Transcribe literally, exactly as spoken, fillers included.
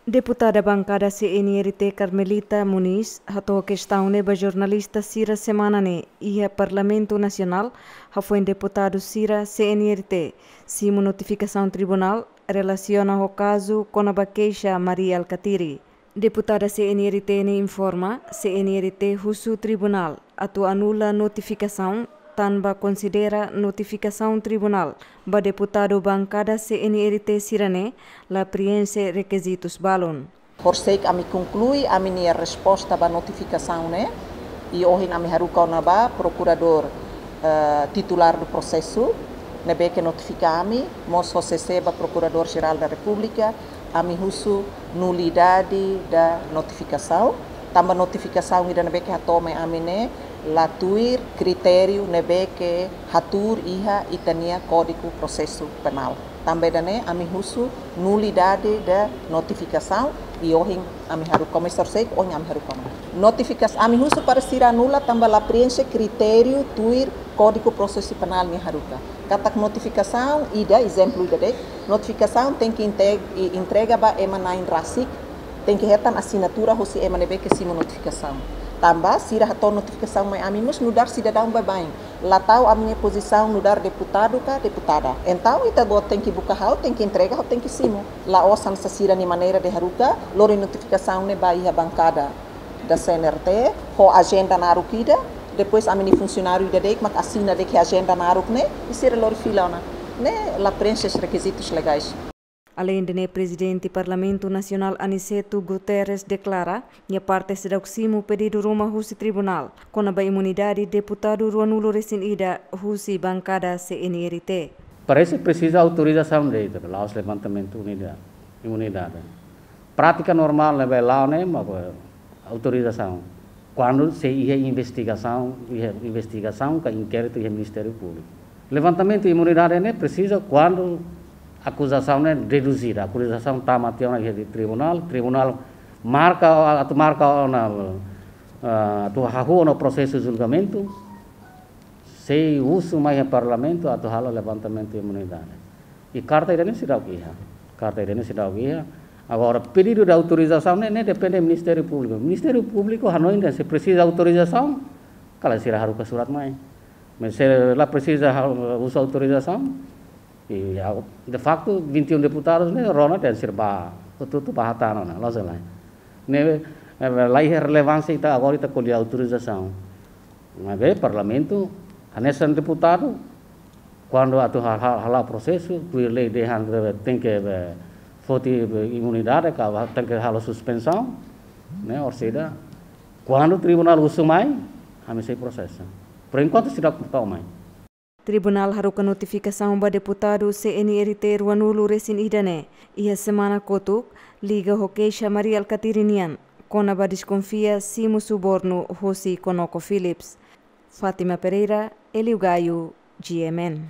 Deputada bankada C N R T Carmelita Moniz hato'o kestaun ne'e ba jornalista sira semana ne'e iha Parlamentu Nasionál, hafoin deputadu sira C N R T simu notifikasaun tribunál relasiona ho kazu kona-ba keixa Mari Alkatiri. Deputada C N R T ne'e informa, C N R T husu tribunál atu anula notifikasaun, tanba konsidera notifikasaun tribunál ba deputadu bankada C N R T sira-ne'e la prienxe rekizitus balun. Horisehik ami konklui ami-nia resposta ba notifikasaun ne'e, i ohin ami haruka ona ba prokuradór, eh, titulár do prosesu, ne'ebé ke notifika ami, mós ho C C ba Prokuradór Jerál da Repúblika, ami husu nulidade da notifikasaun, tanba notifikasaun ida ne'ebé ke hato'o mai ami ne'e la tuir kritériu ne'ebé ke hatuur iha ita-nia Kódigu Prosesu Penál. Tanba ida-ne'e ami husu nulidade da notifikasaun, i ohin ami haruka, komesa horisehik ohin ami haruka ona. Notifikas-, ami husu para sira anula tanba la prienxe kritériu tuir Kódigu Prosesu Penál nia haruka. Katak notifikasaun ida, ezemplu ida de'it, notifikasaun tenke inte-, i-, entrega ba ema na'in rasik, tenke hetan asinatura hosi ema ne'ebé ke simu notifikasaun. Tanba sira hato'o notifikasaun mai ami mós nu'udar sidadaun baibain. La tau ami-nia pozisaun nu'udar deputadu ka deputada. Entaun ita agora tenke buka ha'u, tenke entrega ha'u, tenke simu. La'ós hanesan sira-nia maneira de haruka, lori notifikasaun ne'e ba iha bankada da C N R T, ho ajenda naruk ida, depois ami-nia funsionáriu ida de'it mak asina de'it iha ajenda naruk ne'e, i sira lori fila ona. Ne'e la prienxe rekizitus legais. Aleinde ne'e, Prezidente Parlamentu Nasionál Aniceto Guterres deklara, nia parte seidauk simu pedidu ruma husi tribunál kona-ba imunidade deputadu ruanulu resin ida husi bankada C N R T. Parese presiza autorizasaun de'it, la'ós levantamentu unida-, imunidade. Prátika normál ne'ebé la'o ne'e mak autorizasaun. Kuandu sei iha investigasaun, iha investigasaun ka inkéritu iha Ministériu Públiku. Levantamentu imunidade ne'e presiza kuandu akuzasaun ne'e deduzida, akuzasaun tama tiha ona iha tribunál, tribunál marka, atu marka ona, eh, atu hahú ona prosesu julgamentu, sei husu mai iha Parlamentu atu halo levantamentu imunidade. I karta ida-ne'e seidauk iha. Karta ida-ne'e seidauk iha. Agora, pedidu de autorizasaun ne'e, ne'e depende Ministériu Públiku. Ministériu Públiku hanoin dehan se presiza autorizasaun, kala sira haruka surat mai. Mas se la presiza ha-, husu autorizasaun, i, de facto, vinte e um deputadus ne'e rona dehan sira bá, hotu-hotu bá hatán ona, la'ós lai. Ne'e, eh, la iha relevánsia ita agora ita ko'alia autorizasaun. Maibé Parlamentu, hanesan deputadu, kuandu atu ha-, ha-, hala'o prosesu, tuir lei dehan, eh, tenke, eh, foti, eh, imunidade, ka tenke halo suspensaun, ne'e, orsida, kuandu tribunál husu mai, ami sei prosesa. Por enkuantu seidauk tau mai. Tribunál haruka notifikasaun ba deputadu C N R T ruanulu resin ida ne'e iha semana kotuk, liga ho keixa Mari Alkatiri nian, kona-ba deskonfia simu subornu hosi ConocoPhillips. Fátima Pereira, Hélio Gaio, G M N.